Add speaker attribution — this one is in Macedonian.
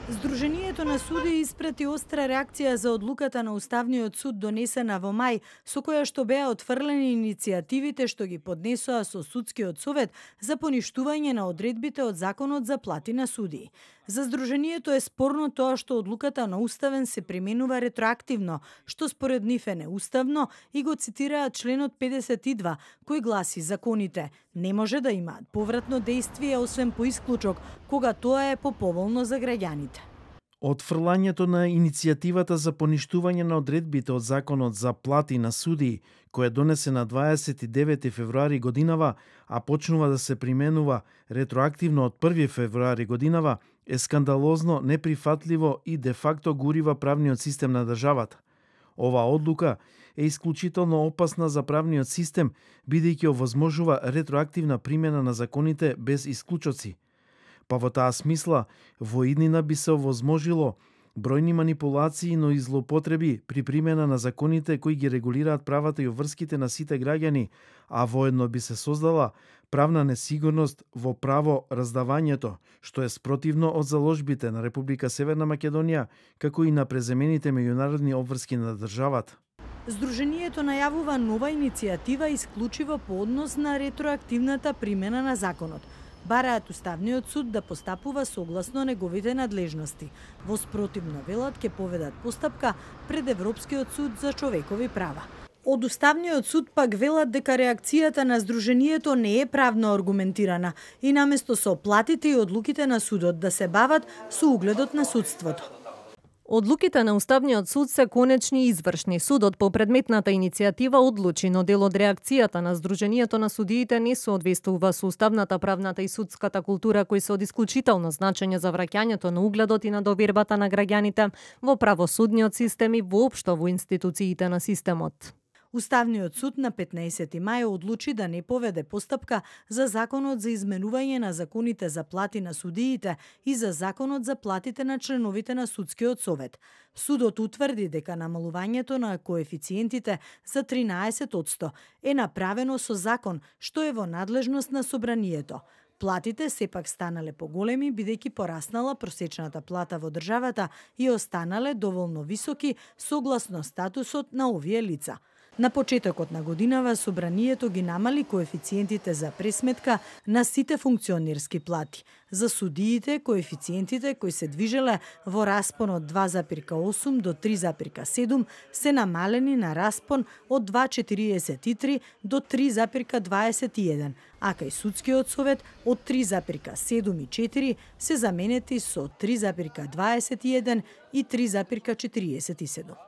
Speaker 1: Здруженијето на суди испрати остра реакција за одлуката на Уставниот суд донесена во мај, со која што беа отфрлени иницијативите што ги поднесоа со судскиот совет за поништување на одредбите од Законот за плати на судии. За Здруженијето е спорно тоа што одлуката на Уставен се применува ретроактивно, што според нив е неуставно, и го цитираат членот 52, кој гласи: законите не може да имаат повратно дејствие освен по исклучок, кога тоа е поповолно за граѓаните.
Speaker 2: Отфрлањето на иницијативата за поништување на одредбите од Законот за плати на судии, која донесе на 29 февруари годинава, а почнува да се применува ретроактивно од 1 февруари годинава, е скандалозно, неприфатливо и де факто гурива правниот систем на државата. Оваа одлука е исклучително опасна за правниот систем, бидејќи овозможува ретроактивна примена на законите без исклучоци. Па во таа смисла, во иднина би се овозможило бројни манипулации, но и злоупотреби при примена на законите кои ги регулираат правата и обврските на сите граѓани, а воедно би се создала правна несигурност во право раздавањето, што е спротивно од заложбите на Република Северна Македонија, како и на преземените меѓународни обврски на државата.
Speaker 1: Здруженијето најавува нова иницијатива исклучиво по однос на ретроактивната примена на законот. Бараат Уставниот суд да постапува согласно неговите надлежности. Во спротивно, велат, ќе поведат постапка пред Европскиот суд за човекови права. Од Уставниот суд пак велат дека реакцијата на Здруженијето не е правно аргументирана и наместо со платите и одлуките на судот да се бават со угледот на судството.
Speaker 3: Одлуките на Уставниот суд се конечни и извршни. Судот по предметната иницијатива одлучи, но дел од реакцијата на Здруженијето на судиите не соодветствува со уставната, правната и судската култура, кои се од исклучително значење за враќањето на угледот и на довербата на граѓаните во правосудниот систем и воопшто во институциите на системот.
Speaker 1: Уставниот суд на 15 мај одлучи да не поведе постапка за Законот за изменување на законите за плати на судиите и за Законот за платите на членовите на судскиот совет. Судот утврди дека намалувањето на коефициентите за 13% е направено со закон, што е во надлежност на собранието. Платите сепак станале поголеми, бидејќи пораснала просечната плата во државата и останале доволно високи согласно статусот на овие лица. На почетокот на годинава собранието ги намали коефициентите за пресметка на сите функционерски плати. За судиите, коефициентите кои се движеле во распон од 2,8 до 3,7 се намалени на распон од 2,43 до 3,21, а кај судскиот совет од 3,74 се заменети со 3,21 и 3,47.